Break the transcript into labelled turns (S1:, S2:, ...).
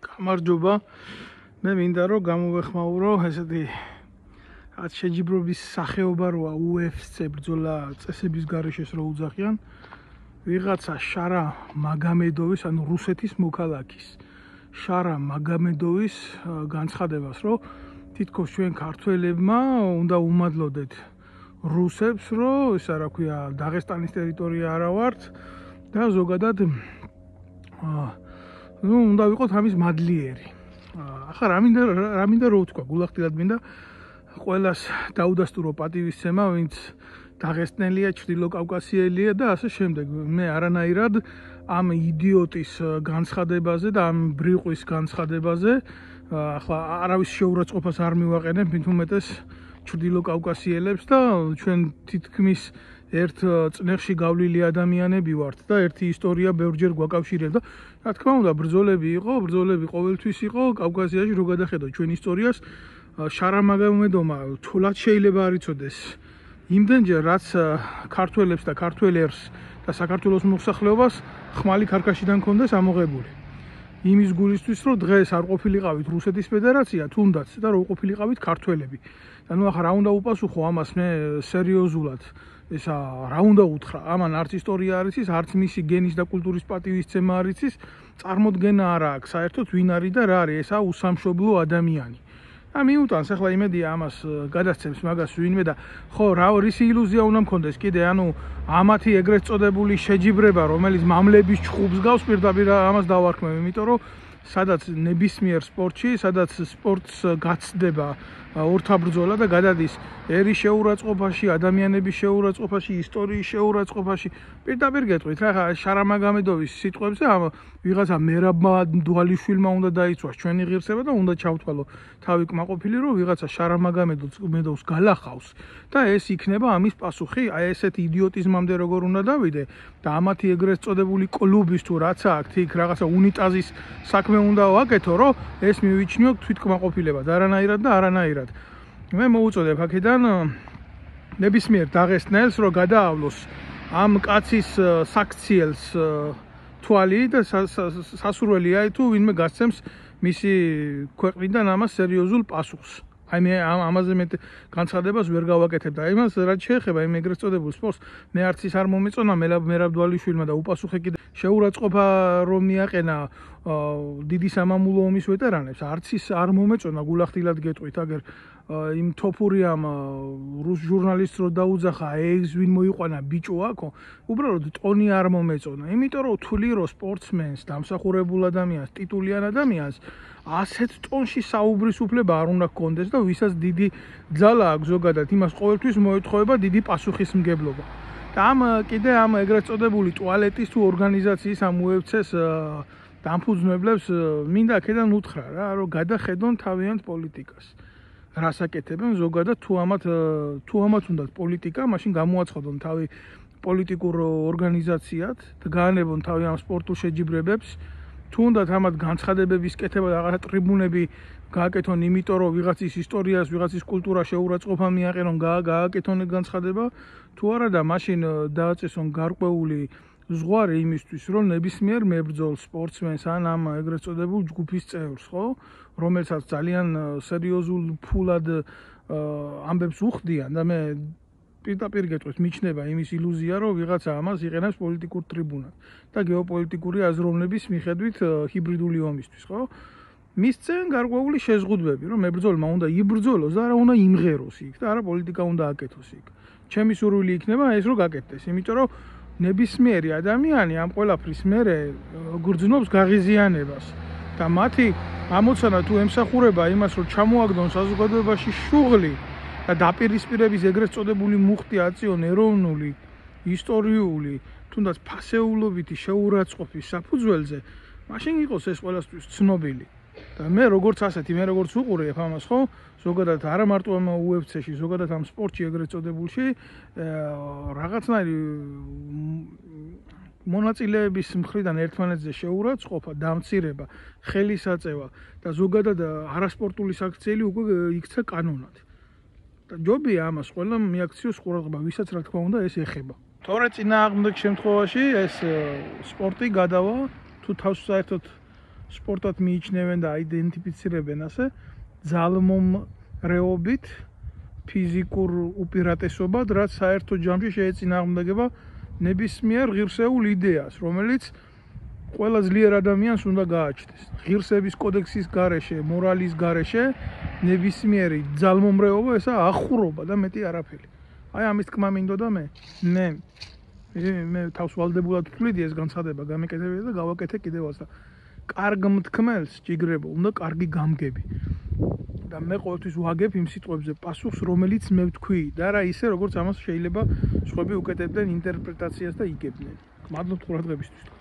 S1: გამარჯობა. მე მინდა რომ გამოვეხმაურო ესეთი რაც შეჯიბრობის სახეობა როა UFC ბრძოლა წესების გარეშე რო უძახიან ვიღაცა შარა მაგამედოვის ანუ რუსეთის მოქალაქის შარა მაგამედოვის განცხადებას რომ თითქოს ჩვენ ქართველებმა უნდა უმადლოდეთ რუსებს რომ ისა რა ქვია დაღესტანის ტერიტორია არა ვართ და ზოგადად უნდა ვიყოთ ამის მადლიერი. ახლა რა მინდა რო ვთქვა, გულახდილად მინდა ყველას დაუდასტურო პატივისცემა, ვინც დაღესტნელია, ჩრდილოკავკასიელია და ასე შემდეგ. მე არანაირად ამ იდიოტის განცხადებაზე და ამ ბრიყვის განცხადებაზე ახლა არავის შეურაცხყოფას არ მივაყენებ, მით უმეტეს ჩრდილოკავკასიელებს და ჩვენ თითქმის ერთ წნეხში გავლილი ადამიანები ვართ და ერთი ისტორია ბევრჯერ გვაკავშირებდა. რა თქმა უნდა, ბრძოლები ყოველთვის იყო კავკასიაში რო გადახედოთ ჩვენ ისტორიას, შარა მაგამედომა თულად შეიძლება არ იცოდეს. იმდენჯერ რაც ქართველებს და ქართველებს და საქართველოს მოსახლეობას ხმალი ქარქაშიდან კონდეს ამოღებული. იმის გულისთვის რომ დღეს არ ყოფილიყავით რუსეთის ფედერაცია, თუნდაც და რო ყოფილიყავით ქართველები. და ნუ ახლა რა უნდა უპასუხო ამას მე სერიოზულად. ესა რა უნდა უთხრა, ამან არც ისტორია არ იცის, არც მისი გენის და კულტურის პატივისცემა არ იცის, წარმოდგენა არ აქვს საერთოდ ვინ არის და რა არის, ესა უსამშობლო ადამიანი. და მიუტანს ახლა იმედია ამას გადასცემს მაგას ვინმე და ხო რა რისი ილუზია უნდა მქონდეს კიდე, ანუ ამათი ეგრეთ წოდებული შეჯიბრება, რომელიც მამლების ჩხუბს გავს, პირდაპირ ამას დავარქმევ, იმიტომ რომ სადაც ნებისმიერ სპორტში, სადაც სპორტს გაცდება ორთაბრძოლა და გადადის ერის შეურაცხყოფაში, ადამიანების შეურაცხყოფაში, ისტორიის შეურაცხყოფაში. პირდაპირ გეტყვით რა, შარა მაგამედოვის სიტყვებზე ამ ვიღაცა მერაბ-დვალიშვილმა უნდა დაიცვას ჩვენი ღირსება და უნდა ჩავთვალო თავი კმაყოფილი, რომ ვიღაცა შარა მაგამედოვს გალახავს და ეს იქნება ამის პასუხი. აი ესეთი იდიოტიზმამდე როგორ უნდა დავიდე და ამათი ეგრეთ წოდებული კლუბის თუ რაც აქვს იქ რაღაცა უნიტაზის საქმე უნდა ვაკეთო, რომ ეს მივიჩნიო თვითკმაყოფილებად, არანაირად და არანაირად. მე მოუწოდებ აქედან ნებისმიერ დაღესტნელს რომ გადაავლოს ამ კაცის საქციელს თვალი და სასურველია თუ ვინმე გასცემს მისი ქვეყნიდან ამას სერიოზულ პასუხს. აი მე ამაზე მე განცხადებას ვერ გავაკეთებ და იმას რაც შეეხება იმ ეგრეთ წოდებულ სპორტს მე არც ის არ მომეწონა მერაბ-დვალიშვილმა და უპასუხე კიდე შეურაცხყოფა რომ მიაყენა დიდი სამამულო ომის ვეტერანებს არც ის არ მომეწონა, გულახდილად გეტყვით აგერ იმ თოფურიამ რუს ჟურნალისტს რო დაუძახა ეს ვინ მოიყვანა ბიჭო აქო, უბრალოდ ტონი არ მომეწონა, იმიტომ რომ თვლი რომ სპორტსმენს, დამსახურებულ ადამიანს, ტიტულიან ადამიანს ასეთ ტონში საუბრის უფლება არ უნდა ჰქონდეს და ვისაც დიდი ძალა აქვს ზოგადად, იმას ყოველთვის მოეთხოვება დიდი პასუხისმგებლობა. და კიდე ამ ეგრეთ წოდებული ტუალეტის თუ ორგანიზაციის ამ UFC-ს დამფუძნებლებს მინდა აქედან უთხრა რა, რომ გადახედონ თავიანთ პოლიტიკას. რას აკეთებენ ზოგადად თუ ამათ უნდათ პოლიტიკა, მაშინ გამოაცხადონ თავი პოლიტიკურ ორგანიზაციად და გაანებონ თავი ამ სპორტულ შეჯიბრებებს. თუნდაც ამათ განცხადებების კეთება და რაღაცა ტრიბუნები გააკეთონ, იმიტომ რომ ვიღაცის ისტორიას, ვიღაცის კულტურას შეურაცხყოფა მიაყენონ, გააკეთონ განცხადება, თუ არა და მაშინ დააწესონ გარკვეული ზღვარი იმისთვის, რომ ნებისმიერ მებრძოლ სპორტსმენს ან ამ ეგრეთ წოდებულ ჯგუფის წევრს, ხო, რომელსაც ძალიან სერიოზულ ფულად ამბებს უხდიან და მე პირდაპირ გეტყვით, მიჩნდება იმის ილუზია, რომ ვიღაცა ამას იყენებს პოლიტიკურ ტრიბუნად და გეოპოლიტიკური აზროვნების მიხედვით ჰიბრიდული ომისთვის, ხო? მისცენ გარკვეული შეზღუდვები, რომ მებრძოლმა უნდა იბრძოლოს და არა უნდა იმღეროს იქ და არა პოლიტიკა უნდა აკეთოს იქ. ჩემი სურვილი იქნება ეს რომ გაკეთდეს, იმიტომ რომ ნებისმიერი ადამიანი ამ ყველაფრის მერე გრძნობს გაღიზიანებას და მათი ამოცანა თუ ემსახურება იმას, რომ ჩამოაგდონ საზოგადოებაში შუღლი და დაპირისპირების ეგრეთ წოდებული მუხტი აწიონ ეროვნული, ისტორიული, თუნდაც ფასეულობითი შეურაცხყოფის საფუძველზე, მაშინ იყოს ეს ყველასთვის ცნობილი. და მე როგორც უყურებ ამას, ხო, ზოგადად არა მარტო ამ UFC-ში, ზოგადად ამ სპორტში ეგრეთ წოდებულში რაღაცნაირი მონაწილეების მხრიდან ერთმანეთზე შეურაცხყოფა, დამცირება, ხელისაწევა და ზოგადად არასპორტული საქციელი უკვე იქცა კანონად. და ჯობია ამას ყველა მიაქციოს ყურადღება, ვისაც რა თქმა უნდა ეს ეხება. თორე წინააღმდეგ შემთხვევაში ეს სპორტი გადავა თუ თავს საერთოდ სპორტად მიიჩნევენ და აიდენტიფიცირებენ ასე ძალმომრეობით ფიზიკურ უპირატესობად, რაც საერთო ჯამში შეეწინააღმდეგება ნებისმიერ ღირსეულ იდეას, რომელიც ყველა ძლიერ ადამიანს უნდა გააჩნდეს. ღირსების კოდექსის გარეშე, მორალის გარეშე ნებისმიერი ძალმომრეობა ესა ახურობა და მეტი არაფერი. აი ამის თქმა მინდოდა მე თავს ვალდებულად ვთვლიდი ეს განცხადება გამეკეთებინა და გავაკეთე კიდევაც და კარგ მთქმელს ჭიგრებო, უნდა კარგი გამგები. და მე ყოველთვის ვაგებ იმ სიტყვებზე პასუხს, რომელიც მე ვთქვი და რა ისე, როგორც ამას შეიძლება სხვები უკეთებდნენ ინტერპრეტაციას და იგებდნენ. მადლობთ ყურადღებისთვის.